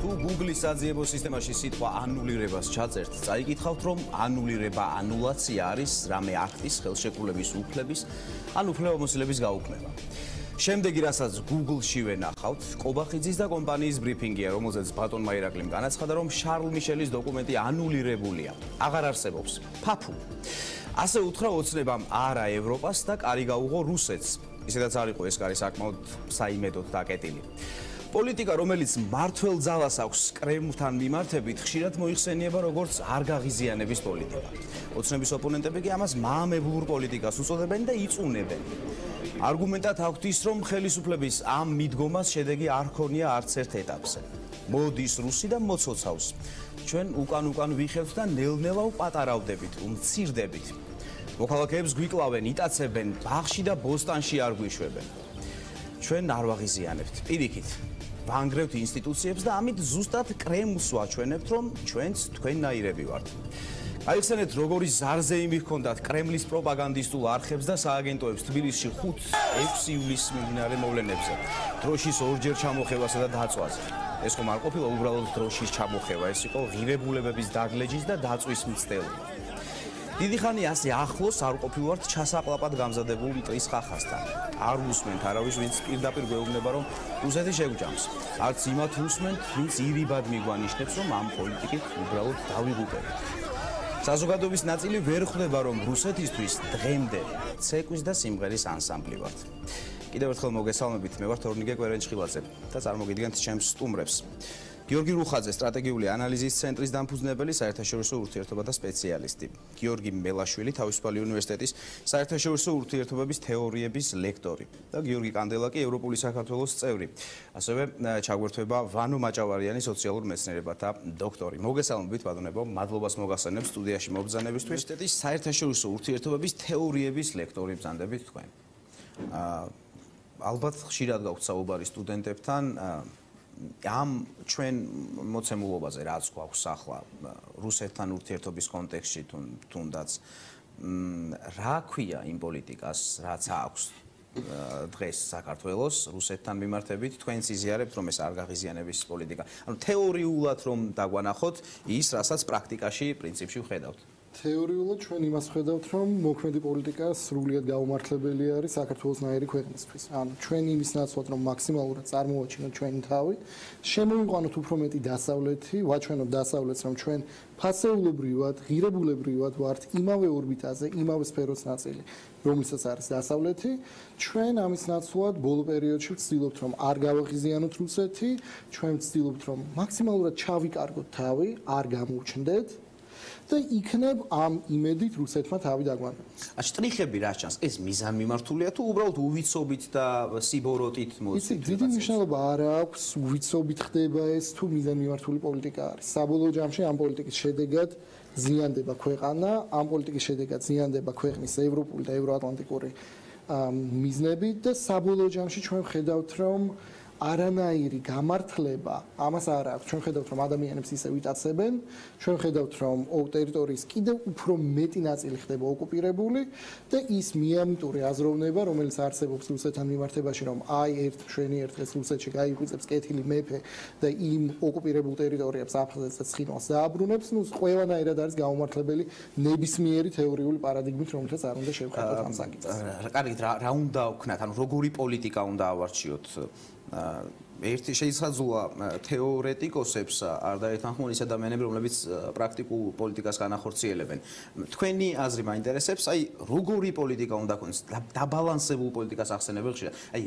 თუ Google-ის საძიებო სისტემაში სიტყვა ანულირებას ჩაწერთ, წაიკითხავთ, რომ ანულირება, ანულაცია არის რამე აქტის, ხელშეკრულების უფლების, ან უფლებამოსილების გაუქმება. შემდეგი, რასაც Google-ში ვენახავთ, კობახიძის და კომპანიის ბრიფინგია, რომელზეც ბატონმა ირაკლიმ განაცხადა, რომ შარლ მიშელის დოკუმენტი ანულირებულია. აღარ არსებობს. ფაფუ. ასე უთხრა ოცნებამ არა ევროპას და კარი გაუღო რუსეთს. ისედაც არ იყო ეს კარი საკმაოდ საიმედოდ დაკეტილი. პოლიტიკა, რომელიც მართველ ძალას აქვს კრემლთან მიმართებით, ხშირად მოიხსენიება როგორც არ გაღიზიანების პოლიტიკა. ოცნების ოპონენტები კი ამას მაამებლურ პოლიტიკას უწოდებენ და იწუნებენ. არგუმენტად აქვთ ის, რომ ხელისუფლების ამ მიდგომას შედეგი არ ჰქონია არც ერთ ეტაპზე. მოდის რუსი და მოცოცავს. ჩვენ უკან ვიხევთ და ნელ-ნელა ვპატარავდებით, უმცირდებით. მოქალაქეებს გვიკლავენ, იტაცებენ, ბაღში და ბოსტანში არ გვიშვებენ. ჩვენ არ ვაღიზიანებთ. პირიქით, ვანგრევთ ინსტიტუციებს და ამით ზუსტად კრემლს ვაჩვენებთ, რომ ჩვენც თქვენნაირები ვართ. აიხსენეთ, როგორი ზარზეიმი ჰქონდათ კრემლის პროპაგანდისტულ არხებს და სააგენტოებს თბილისში 5-6 ივლისის მიმდინარე მოვლენებზე, დროშის ორჯერ ჩამოხევასა და დაწვაზე. ეს ხომ არ ყოფილა უბრალოდ დროშის ჩამოხევა, ეს იყო ღირებულებების დაგლეჯის და დაწვის მცდელობა. დიდი ხანი ასე ახლოს არ ყოფილვართ ჩასაყლაპად გამზადებულ მტრის ხახასთან. არ უსმენთ არავის, ვინც პირდაპირ გვეუბნება, რომ რუსეთი შეგვჯამს. არც იმათ უსმენთ, ვინც ირიბად მიგვანიშნებს, რომ ამ პოლიტიკით უბრალოდ დავიღუპებით. საზოგადოების ნაწილი ვერ ხვდება, რომ რუსეთისთვის დღემდე ცეკვის და სიმღერის ანსამბლი ვართ. კიდევ ერთხელ მოგესალმებით, მე ვარ თორნიკე კვერენჩხილაძე და წარმოგიდგენთ ჩემს სტუმრებს. გიორგი რუხაძე, სტრატეგიული ანალიზის ცენტრის დამფუძნებელი, საერთაშორისო ურთიერთობათა სპეციალისტი. გიორგი მელაშვილი, თავისუფალი უნივერსიტეტის საერთაშორისო ურთიერთობების თეორიების ლექტორი და გიორგი კანდელაკი, ევროპული საქართველოს წევრი. ასევე ჩაგვერთვება ვანო მაჭავარიანი, სოციალურ მეცნიერებათა დოქტორი. მოგესალმებით, ბატონებო, მადლობას მოგახსენებ სტუდიაში მობრძანებისთვის. უნივერსიტეტის საერთაშორისო ურთიერთობების თეორიების ლექტორი ბრძანდებით თქვენ. ალბათ ხშირად გაქვთ საუბარი სტუდენტებთან ამ ჩვენ მოცემულობაზე, რაც გვაქვს ახლა რუსეთთან ურთიერთობის კონტექსტში თუნდაც რა ქვია იმ პოლიტიკას, რაც აქვს დღეს საქართველოს რუსეთთან მიმართებით, თქვენ იზიარებთ, რომ ეს არ გაღიზიანების პოლიტიკა. ანუ თეორიულად რომ დაგვანახოთ ის, რასაც პრაქტიკაში პრინციპში ვხედავთ. თეორიულად ჩვენ იმას ვხედავთ, რომ მოქმედი პოლიტიკა სრულიად გაუმართლებელი არის საქართველოსნაირი ქვეყნისთვის. ანუ ჩვენ იმის ნაცვლად, რომ მაქსიმალურად წარმოვაჩინოთ ჩვენი თავი, შემოვიყვანოთ უფრო მეტი დასავლეთი, ვაჩვენოთ დასავლეთს, რომ ჩვენ ფასეულობრივად, ღირებულებრივად ვართ იმავე ორბიტაზე, იმავე სფეროს ნაწილი, რომელსაც არის დასავლეთი. ჩვენ ამის ნაცვლად ბოლო პერიოდში ვცდილობთ, რომ არ გავაღიზიანოთ რუსეთი, ჩვენ ვცდილობთ, რომ მაქსიმალურად ჩავიკარგოთ თავი, არ გამოვჩნდეთ. და იქნებ ამ იმედით რუსეთმა თავი დაგვანებოს. შტრიხები რა ჩანს? ეს მიზანმიმართულია თუ უბრალოდ უვიცობით და სიბოროტით მოწმით? დიდი მნიშვნელობა არ აქვს, უვიცობით ხდება ეს თუ მიზანმიმართული პოლიტიკა არის. საბოლოო ჯამში ამ პოლიტიკის შედეგად ზიანდება ქვეყანა, ამ პოლიტიკის შედეგად ზიანდება ქვეყნის ევროპული და ევროატლანტიკური მიზნები და საბოლოო ჯამში ჩვენ ვხედავთ, რომ არანაირი გამართლება ამას არ აქვს. ჩვენ ხედავთ, რომ ადამიანებს ისე ვიტაცებენ, ჩვენ ხედავთ, რომ ტერიტორიის კიდევ უფრო მეტი ნაწილი ხდება ოკუპირებული და ის მიამიტური აზროვნება, რომელიც არსებობს რუსეთთან მიმართებაში, რომ აი ერთ მშვენიერ დღეს რუსეთში გაიღვიძებს კეთილი მეფე და იმ ოკუპირებულ ტერიტორიებს აფხაზეთს და ცხინვალს დააბრუნებს, ნუ ყველანაირად არის გაუმართლებელი ნებისმიერი თეორიული პარადიგმით, რომელსაც არ უნდა შევხედოთ ამ საკითხს. კარგით, რა უნდა ვქნათ? ანუ როგორი პოლიტიკა უნდა ავარჩიოთ? ერთი შეიძლება თეორეტიკოსებს არ დაეთანხმონ ის ადამიანები, რომლებიც პრაქტიკულ პოლიტიკას განახორციელებენ. თქვენი აზრი მაინტერესებს, აი როგორი პოლიტიკა უნდა გქონდეს? დაბალანსებულ პოლიტიკას ახსენებენ ხშირად. აი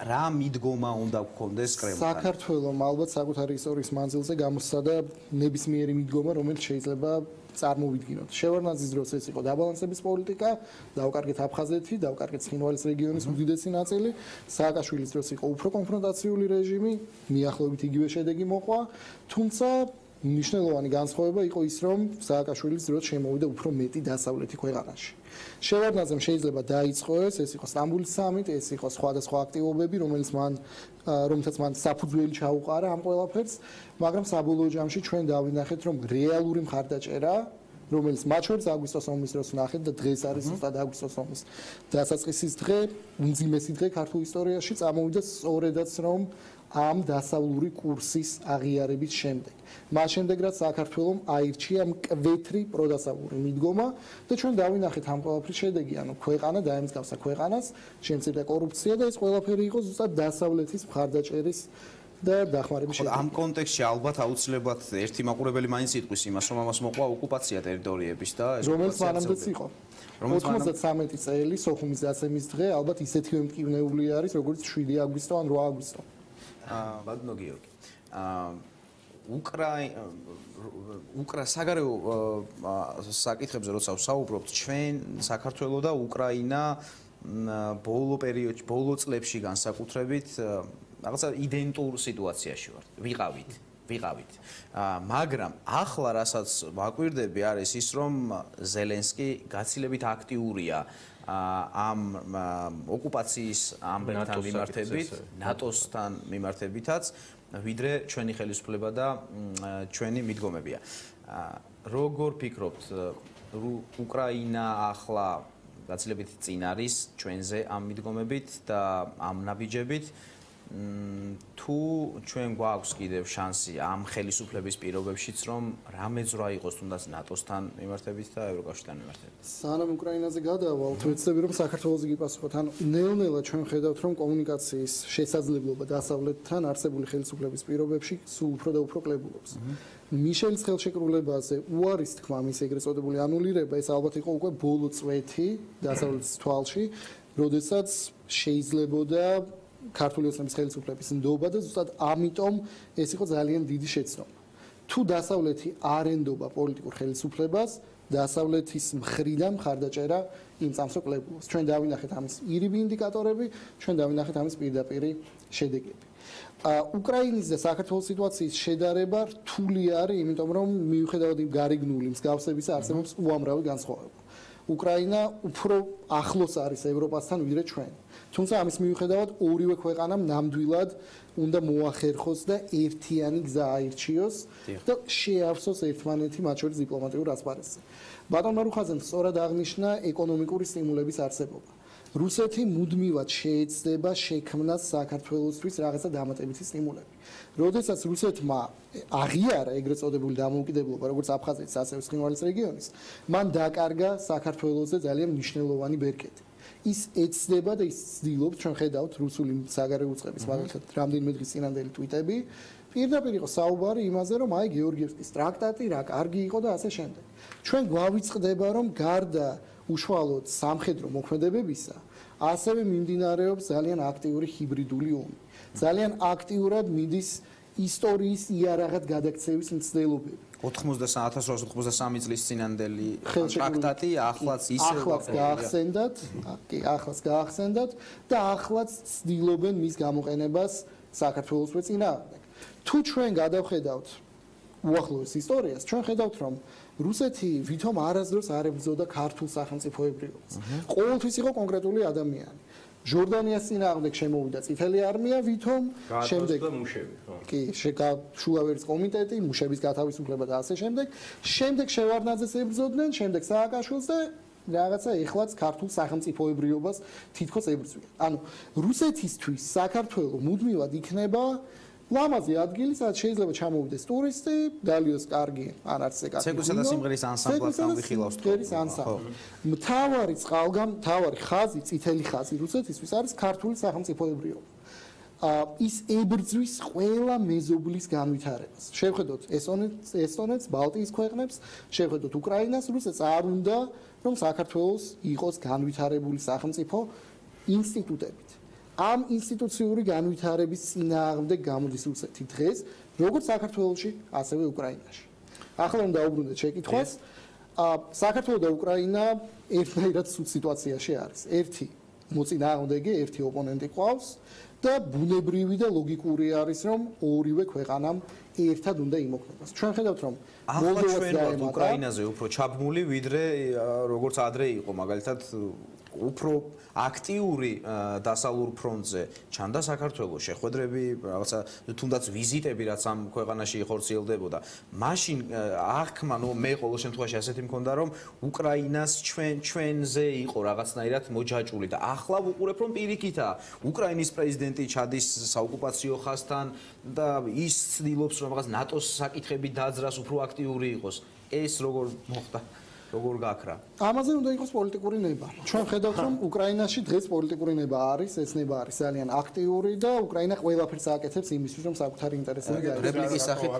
რა მიდგომა უნდა გქონდეს კრემლთან? საქართველოს ალბათ საკუთარი ისტორიის მანძილზე გამოსცადა ნებისმიერი მიდგომა, რომელიც შეიძლება წარმოვიდგინოთ. შევარდნაძის დროს ეს იყო დაბალანსების პოლიტიკა, დავკარგეთ აფხაზეთი, დავკარგეთ ცხინვალის რეგიონის უდიდესი ნაწილი, სააკაშვილის დროს იყო უფრო კონფრონტაციული რეჟიმი, მიახლოებით იგივე შედეგი მოყვა, თუმცა მნიშვნელოვანი განსხვავება იყო ის, რომ სააკაშვილის დროს შემოვიდა უფრო მეტი დასავლეთი ქვეყანაში. შევარდნაძემ შეიძლება დაიწყო ეს იყო სტამბოლის სამიტი, ეს იყო სხვადასხვა აქტივობები, რომელთაც მან საფუძველი ჩაუყარა ამ ყველაფერს, მაგრამ საბოლოო ჯამში ჩვენ დავინახეთ, რომ რეალური მხარდაჭერა, რომელიც მათ შორის აგვისტოს ომის დროს ვნახეთ და დღეს არის ზუსტად აგვისტოს ომის დასაწყისის დღე, უმძიმესი დღე ქართულ ისტორიაში, წამოვიდა სწორედაც, რომ ამ დასავლური კურსის აღიარების შემდეგ. მას შემდეგ რაც საქართველოს აირჩია მკვეთრი პროდასავლური მიდგომა და ჩვენ დავინახეთ ამ ყველაფრის შედეგი, ანუ ქვეყანა დაემსგავსა ქვეყანას, შემცირდა კორუფცია და ეს ყველაფერი იყო ზუსტად დასავლეთის მხარდაჭერის და დახმარების შედეგი. ამ კონტექსტში ალბათ აუცილებლად ერთი მაყურებელი მაინც იტყვის იმას, რომ ამას მოყვა ოკუპაცია ტერიტორიების და ეს რომელიც მანამდეც იყო. 93 წელი სოხუმის დაცემის დღე ალბათ ისეთი მტკივნეული არის, როგორც 7 აგვისტო ან 8 აგვისტო. ბატონო გიორგი. საგარეო საკითხებზე როცა ვსაუბრობთ, ჩვენ საქართველო და უკრაინა ბოლო პერიოდში, ბოლო წლებში განსაკუთრებით რაღაცა იდენტურ სიტუაციაში ვიყავით. მაგრამ ახლა რასაც ვაკვირდები არის ის, რომ ზელენსკი გაცილებით აქტიურია ამ ოკუპაციის ამბებთან მიმართებით, ნატოსთან მიმართებითაც, ვიდრე ჩვენი ხელისუფლება და ჩვენი მიდგომებია. როგორ ფიქრობთ, უკრაინა ახლა გაცილებით წინ არის ჩვენზე ამ მიდგომებით და ამ ნაბიჯებით? თუ ჩვენ გვაქვს კიდევ შანსი ამ ხელისუფლების პირობებშიც, რომ რამე ძრა იყოს თუნდაც ნატოსთან მიმართებით და ევროკავშირთან მიმართებით. სანამ უკრაინაზე გადავალთ, ვეცდები რომ საქართველოს გიპასუხოთ. ანუ ნელ-ნელა ჩვენ ხედავთ, რომ კომუნიკაციის შესაძლებლობა დასავლეთთან არსებული ხელისუფლების პირობებში სულ უფრო და უფრო კლებულობს. მიშელის ხელშეკრულებაზე უარის თქმა, მის ეგრეთ წოდებული ანულირება, ეს ალბათ იყო უკვე ბოლო წვეთი დასავლეთის თვალში, როდესაც შეიძლებოდა ქართული ოცნების ხელისუფლების ნდობა და ზუსტად ამიტომ ეს იყო ძალიან დიდი შეცდომა. თუ დასავლეთი არ ენდობა პოლიტიკურ ხელისუფლებას, დასავლეთის მხრიდან მხარდაჭერა იმ წამსო კლებულობს. ჩვენ დავინახეთ ამის ირიბი ინდიკატორები, ჩვენ დავინახეთ ამის პირდაპირი შედეგები. უკრაინის და საქართველოს სიტუაციის შედარება რთული არის, იმიტომ რომ მიუხედავად იმ გარეგნული მსგავსებისა არსებობს უამრავი განსხვავება. უკრაინა უფრო ახლოს არის ევროპასთან ვიდრე ჩვენ. თუმცა ამის მიუხედავად ორივე ქვეყანამ ნამდვილად უნდა მოახერხოს და ერთიანი გზა აირჩიოს და შეავსოს ერთმანეთი მათ შორის დიპლომატიურ ასპარეზზე. ბატონ მარუხაძემ სწორად აღნიშნა ეკონომიკური სტიმულების არსებობა. რუსეთი მუდმივად შეეცდება შექმნას საქართველოსთვის რაღაცა დამატებითი სტიმულები. როდესაც რუსეთმა აღიარა ეგრეთ წოდებული დამოუკიდებლობა, როგორც აფხაზეთის, ასევე ცხინვალის რეგიონის, მან დაკარგა საქართველოსზე ძალიან მნიშვნელოვანი ბერკეტი. ის ეცდება და ის ცდილობს, ჩვენ ხედავთ რუსული საგარეო უწყების მაგალითად რამდენიმე დღის წინანდელი ტვიტები, პირდაპირ იყო საუბარი იმაზე, რომ აი გეორგიევსკის ტრაქტატი რა კარგი იყო და ასე შემდეგ. ჩვენ გვავიწყდება, რომ გარდა უშუალოდ სამხედრო მოქმედებებისა, ასევე მიმდინარეობს ძალიან აქტიური ჰიბრიდული ომი. ძალიან აქტიურად მიდის ისტორიის იარაღად გადაქცევის მცდელობები. 1893 წლის წინანდელი ტრაქტატი ახლაც გაახსენდათ და ახლაც ცდილობენ მის გამოყენებას საქართველოსვე წინააღმდეგ. თუ ჩვენ გადავხედავთ უახლოეს ისტორიას, ჩვენ ხედავთ, რომ რუსეთი ვითომ არასდროს არ ებრძოდა ქართულ სახელმწიფოებრიობას. ყოველთვის იყო კონკრეტული ადამიანი. ჟორდანიას წინააღმდეგ შემოვიდა წითელი არმია, ვითომ შემდეგ კი შულავერის კომიტეტი, მუშების გათავისუფლება და ასე შემდეგ. შემდეგ შევარდნაძეს ებრძოდნენ, შემდეგ სააკაშვილს და რაღაცა ეხლაც ქართულ სახელმწიფოებრიობას თითქოს ებრძვიან. ანუ რუსეთისთვის საქართველო მუდმივად იქნება ლამაზი ადგილი, სადაც შეიძლება ჩამოვიდეს ტურისტი, დალიოს კარგი ან არც ეკა. ცეკვისა და სიმღერის ანსამბლად გამვიხილავს თქო. მთავარი ხაზი, წითელი ხაზი რუსეთისთვის არის ქართული სახელმწიფოებრიობა. ის ებრძვის ყველა მეზობლის განვითარებას. შევხედოთ ესტონეთს, ბალტიის ქვეყნებს, შევხედოთ უკრაინას, რუსეთს არ უნდა რომ საქართველოს იყოს განვითარებული სახელმწიფო ინსტიტუტებით. ამ ინსტიტუციური განვითარების წინააღმდეგ გამოდის რუსეთი დღეს, როგორც საქართველოში, ასევე უკრაინაში. ახლა უნდა დაუბრუნდეთ შეკითხვას. საქართველო და უკრაინა ერთნაირად სულ სიტუაციაში არის. ერთი მოწინააღმდეგე, ერთი ოპონენტი ყავს და ბუნებრივი და ლოგიკური არის, რომ ორივე ქვეყანამ ერთად უნდა იმოქმედოს. ჩვენ ხედავთ, რომ მოლდოვას უკრაინაზე უფრო ჩაბმული, ვიდრე როგორც ადრე იყო, მაგალითად უფრო აქტიური დასავლურ ფრონტზე ჩანდა საქართველოს შეხვედრები, რაღაცა თუნდაც ვიზიტები, რაც ამ ქვეყანაში ხორციელდებოდა. მაშინ აღქმა, მე ყოველ შემთხვევაში ასეთი მქონდა, რომ უკრაინას ჩვენზე იყო რაღაცნაირად მოჯაჭული და ახლა ვუყურებ, რომ პირიქითაა. უკრაინის პრეზიდენტი ჩადის საოკუპაციო ხაზთან და ის ცდილობს, რომ რაღაც ნატოს საკითხები დაძრას, უფრო აქტიური იყოს. ეს როგორ მოხდა? როგორ გაქრა? ამაზე უნდა იყოს პოლიტიკური ნება. ჩვენ ხედავთ, რომ უკრაინაში დღეს პოლიტიკური ნება არის, ეს ნება არის ძალიან აქტიური და უკრაინა ყველაფერს აკეთებს იმისთვის, რომ საკუთარი ინტერესები გაეცემა. რეპლიკის სახით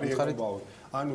ანუ